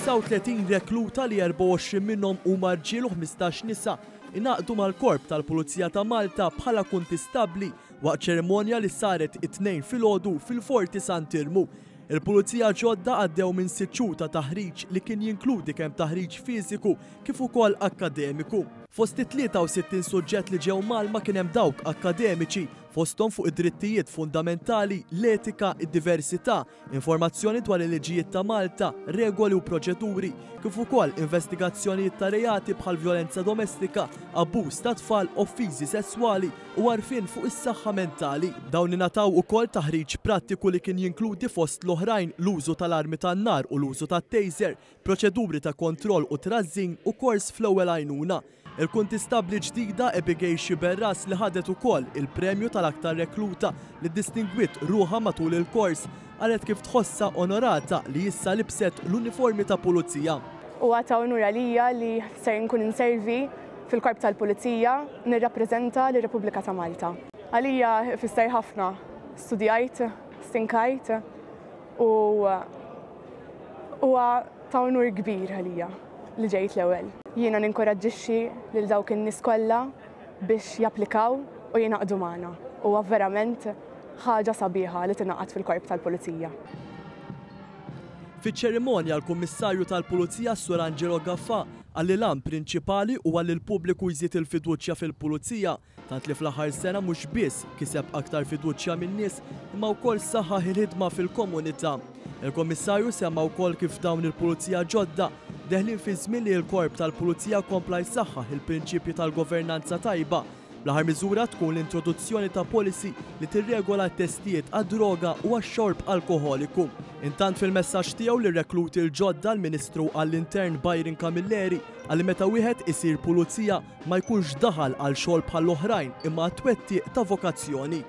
39 rekluta li 24 minnhom huma rġiel u 15 nisa ingħaqdu mal-Korp tal-Pulizija ta' Malta bħala kuntistabbli waqt ċerimonja li saret it-Tnejn filgħodu fil-Forti Sant'Iermu. Il-Pulizija ġodda għaddew minn sitt xhur ta' taħriġ li kien jinkludi kemm taħriġ fiżiku kif ukoll akkademiku. Fost it-63 suġġett li ġew mgħallma kien hemm dawk akkademiċi, fosthom fuq id-drittijiet fundamentali, l-etika, id-diversità, informazzjoni dwar il-liġijiet ta' Malta, regoli u proċeduri, kif ukoll investigazzjonijiet ta' reati bħal vjolenza domestika, abbuż ta' tfal, offiżi sesswali u għarfien fuq is-saħħa mentali. Dawn ingħataw ukoll taħriġ prattiku li kien jinkludi fost l-oħrajn l-użu tal-armi tan-nar u l-użu tat-taser, proċeduri ta' kontroll u trażżin u kors fl-ewwel għajnuna. Il-Kuntistabbli ġdida Abigail Sciberras li ħadet ukoll il-premju tal-aktar rekluta li ddistingwiet ruħha matul il-kors, qalet kif tħossha onorata li issa libset l-uniformi ta' pulizija. Huwa ta' unur għalija li ser inkun inservi fil-Korp tal-Pulizija nirrappreżenta lir-Repubblika ta' Malta. Għalija ifisser ħafna. Studjajt, stinkajt u huwa ta' unur kbir għalija li ġejt l-ewwel. Jiena ninkoraġġixxi lil dawk in-nies kollha biex japplikaw u jingħaqdu magħna. Huwa verament ħaġa sabiħa li tingħaqad fil-Korp tal-Pulizija. Fiċ-ċerimonja l-Kummissarju tal-Pulizija s-Sur Angelo Gafà qal li l-għan prinċipali huwa li l-pubbliku jżid il-fiduċja fil-Pulizija tant li fl-aħħar sena mhux biss kiseb aktar fiduċja min-nies imma wkoll saħħaħ il-ħidma fil-komunità. Il-Kummissarju semma wkoll kif dawn il-pulizija ġodda deħlin fi żmien li l-Korp tal-Pulizija kompla jsaħħaħ il-prinċipji tal-governanza tajba. L-aħħar miżura tkun l-introduzzjoni ta' policy li tirregola t-testijiet għad-droga u għax-xorb alkoħoliku. Intant fil-messaġġ tiegħu lir-rekluti l-ġodda l-Ministru għall-Intern Byron Camilleri qal li meta wieħed isir pulizija ma jkunx daħal għal xogħol bħall-oħrajn imma għat-twettiq ta' vokazzjoni.